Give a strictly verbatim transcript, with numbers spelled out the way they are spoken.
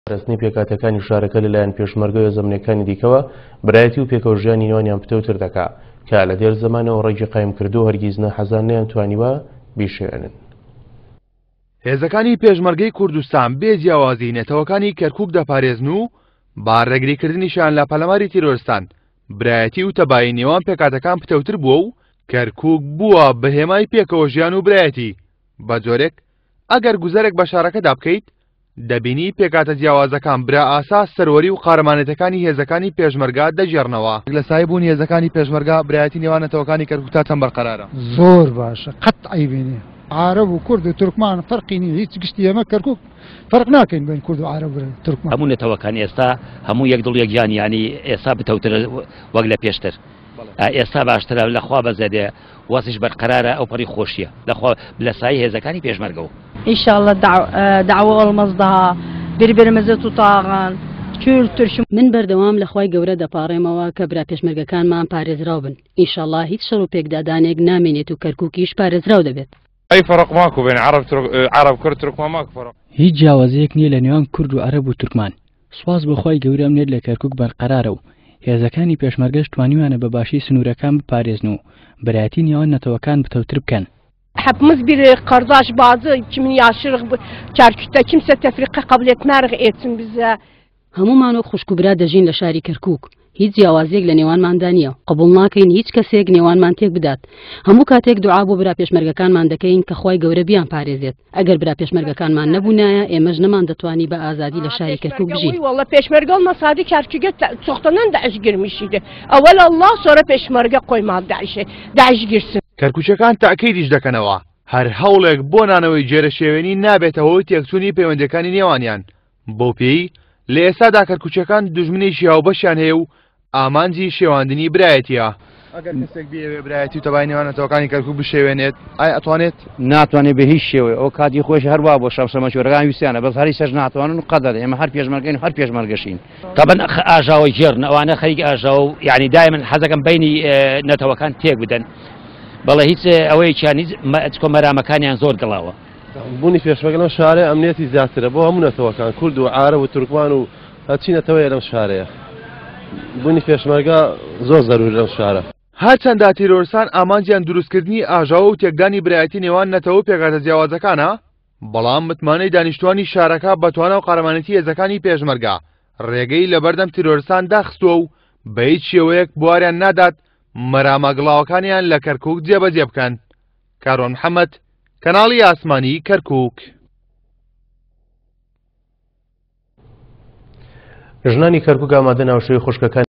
پاراستنی پێکهاتەکانی شارەکە لەلایەن پێشمەرگە و زەمنەکانی دیکەوە برایەتی و پێکەوەژیانی نێوانیان پتەوتر دەکا کە لە دێر زەمانەوە ڕێگی قایم کردو و هەرگیز ناحەزان نەیانتوانیوە بیشێنن. هێزەکانی پێشمەرگەی کوردستان بێ جیاوازی نەتەوەکانی کەرکوک دەپارێزن و با ڕێگریکردنیشیان لە پەلاماری تیرۆرستان برایەتی و تەبایی نێوان پێکهاتەکان پتەوتر بووە و کەرکوک بووە بە هێمای پێکەوە ژیان و برایەتی. بە جۆرێک ئەگەر گوزەرێک بە شارەکەدا بکەیت دەبینی پێکهاتە جیاوازەکان برا ئاسا سەروەری و قارەمانێتەکانی هێزەکانی پێشمەرگە دەگێڕنەوە. لە سایە بوون هێزەکانی پێشمەرگە برایەتی نێوان نەتەوەکانی کەرکوک تا چەند بەرقەرارە؟ زۆر باشە، قەت عەیبی نییە. عەرەب و کورد و تورکمان فەرقی نییە، هیچ گشتی ئێمە کەرکوک فەرق ناکەین بین کورد و عەرەب و تورکمان. هەموو نەتەوەکان ئێستا هەموو یەک دڵ یەک گیان، یعنی ئێستا بتەوترە وەک لە پێشتر، ئێستا باشترە لە خوا بەزەدێ وەزیش بەرقەرارە ئەو پەڕی خۆشیە لەخوا لە سایە هێزەکانی پێشمەرگەوە. İnşallah da'va olmaz daha birbirimizi tutağın kültür. من بەردەوام لە خوای گەورە دەپاڕێمەوە کە برا پێشمەرگەکانمان پارێزراو بن. ئینشاءڵڵا هیچ شەڕ و پێکدادانێک نامێنێت و کەرکوکیش پارێزراو دەبێت. ئەی فەرق ماکو بین عەرەب عەرەب کورد تورکمان ماکو فەرق. هیچ جیاوازیەک نییە لە نێوان کورد و عەرەب و تورکمان. سواز بۆ خوای گەورە ئەمنێت لە کەرکوک بەرقەرارە و هێزەکانی پێشمەرگەش توانیوانە بە باشی سنوورەکان بپارێزن و برایەتی نێوان نەتەوەکان بتەوتر بکەن. Hepimiz bir kardeş bazı kimin yaşırıq Kerkük'te kimse tefrika kabul etmerik etsin bize. هەموومان وەک خوشک و برا دەژین لە شاری کەرکوک. هیچ جیاوازیەک لە نێوانماندا نییە، قبوڵ ناکەین هیچ کەسێک نێوانمان تێک بدات. هەموو کاتێک دوعا بۆ برا پێشمەرگەکانمان دەکەین کە خوای گەورە بیان پارێزێت. ئەگەر برا پێشمەرگەکانمان نەبوونایە ئێمەش نەمان دەتوانی بە ئازادی لە شاری کەرکوک بژین. والله peşmerge olmasaydı Kerkük'e çoktan Daesh girmiş idi. Evvel Allah sonra peşmerge koymadı Daesh'e. Daesh girsin. کەرکوچەکان تاکیدیش دەکەنەوە هەر هەوڵێک بۆ نانەوەی جێرەشێوێنی نابێتە هۆی تێکچوونی پەیوەندەکانی نێوانیان. بەو پێی لە ئێستادا کەرکوچەکان دوژمنێکی هاوبەشیان هەیە و ئامانجی شێواندنی برایەتیە. ئەگەر کەسێک بیەوێ برایەتی و تەبای نێوان نەتەوەکانی کەرکوک بشێوێنێت ئایا ئەتوانێت؟ ناتوانێت بە هیچ شێوەیە. ئەو کاتی خۆش هەروە بۆ شەمشەمەچۆرەکان ویستیانە، بەس هەری سەر ناتوانن و قەدەر ئێمە هەر پێشمەرگەین و هەر پێشمەرگەشین. طبعا ئاژاوە گێڕن، ئەوانە خەریک ئاژاوە و یعنی دائما حەزەکەم بینی نەتەوەکان تێک بدەن. بەڵێ هیچ ئەوەیەکیان هیچ چکۆ مەرامەکانیان زۆر گڵاوە. بوونی پێشمەرگە لەم شارەیە ئەمنیەتی زیاترە بۆ هەموو نەتەوەکان، کورد و عەرەب و تورکمان و هەرچی نەتەوەیە لەم شارەیە. بوونی پێشمەرگە زۆر زەروورە لەم شارە. هەرچەندە تیرۆرستان ئامانجیان دروستکردنی ئاژاوە و تێکدانی برایەتی نێوان نەتەوە و پێکهاتە جیاوازەکانە، بەڵام متمانەی دانیشتوانی شارەکە بە توانا و قارەمانێتی هێزەکانی پێشمەرگە ڕێگەی لەبەردەم تیرۆرستان داخستووە و بە هیچ شێوەیەک بواریان نادات مەرامە گڵاوەکانیان لە کەرکوک جێبەجێ بکەن. کاروان محەممەد، کەناڵی ئاسمانی کەرکوک. ژنانی کەرکوک ئامادە ناوشەوی خوشکەکان